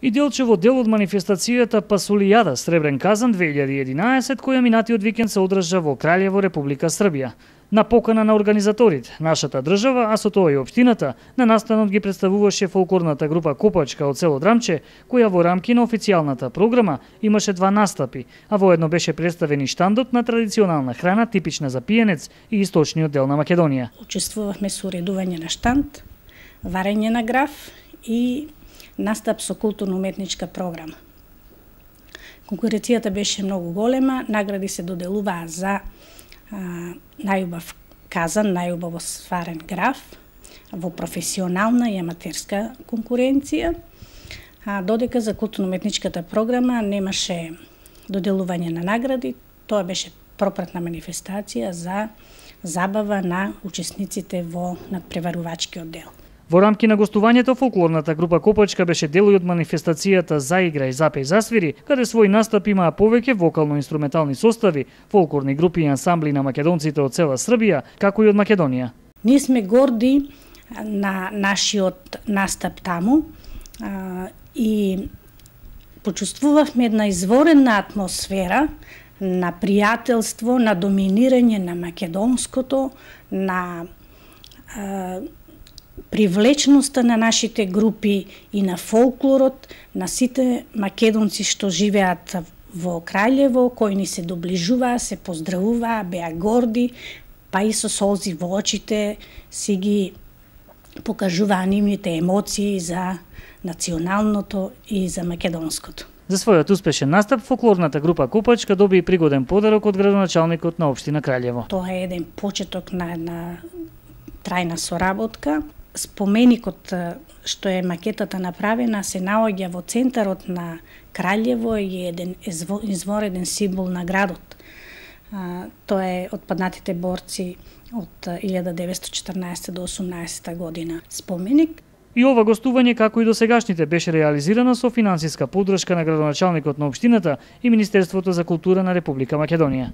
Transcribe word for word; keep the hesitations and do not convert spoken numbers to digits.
И делчево дел од манифестацијата Пасулијада Сребрен казан две илјади и единаесет, која минатиот викенд се одржа во Краљево, Република Србија. На покана на организаторите, нашата држава, а со тоа и општината, на настанот ги представуваше фолклорната група Копачка од село Драмче, која во рамки на официјалната програма имаше два настапи, а воедно беше представен и штандот на традиционална храна типична за пиенец и источниот дел на Македонија. Учествувавме со уредување на штанд, варење на граф и настап со културно-уметничка програма. Конкуренцијата беше многу голема, награди се доделуваа за а, најубав казан, најубаво сварен граф во професионална и аматерска конкуренција, а додека за културно-уметничката програма немаше доделување на награди, тоа беше пропратна манифестација за забава на учесниците во надпреварувачкиот дел. Во рамки на гостувањето, фолклорната група Копачка беше дел од манифестацијата Заигра и запеј засвири, каде свој настап имаа повеќе вокално-инструментални состави, фолклорни групи и ансамбли на македонците од цела Србија, како и од Македонија. Ние сме горди на нашиот настап таму а, и почувствувавме една изворена атмосфера на пријателство, на доминирање на македонското, на а, привлечноста на нашите групи и на фолклорот, на сите македонци што живеат во Краљево, кои ни се доближуваа, се поздравуваа, беа горди, па и со солзи во очите си ги покажуваа нивните емоции за националното и за македонското. За својот успешен настап, фолклорната група Копачка доби и пригоден подарок од градоначалникот на општина Краљево. Тоа е еден почеток на една трајна соработка. Споменикот што е макетата направена се наоѓа во центарот на Краљево и е еден извореден символ на градот. Тоа е отпаднатите борци од илјада деветстотини и четрнаесетта до осумнаесетта година споменик. И ова гостување, како и досегашните, беше реализирано со финансиска поддршка на градоначалникот на општината и Министерството за култура на Република Македонија.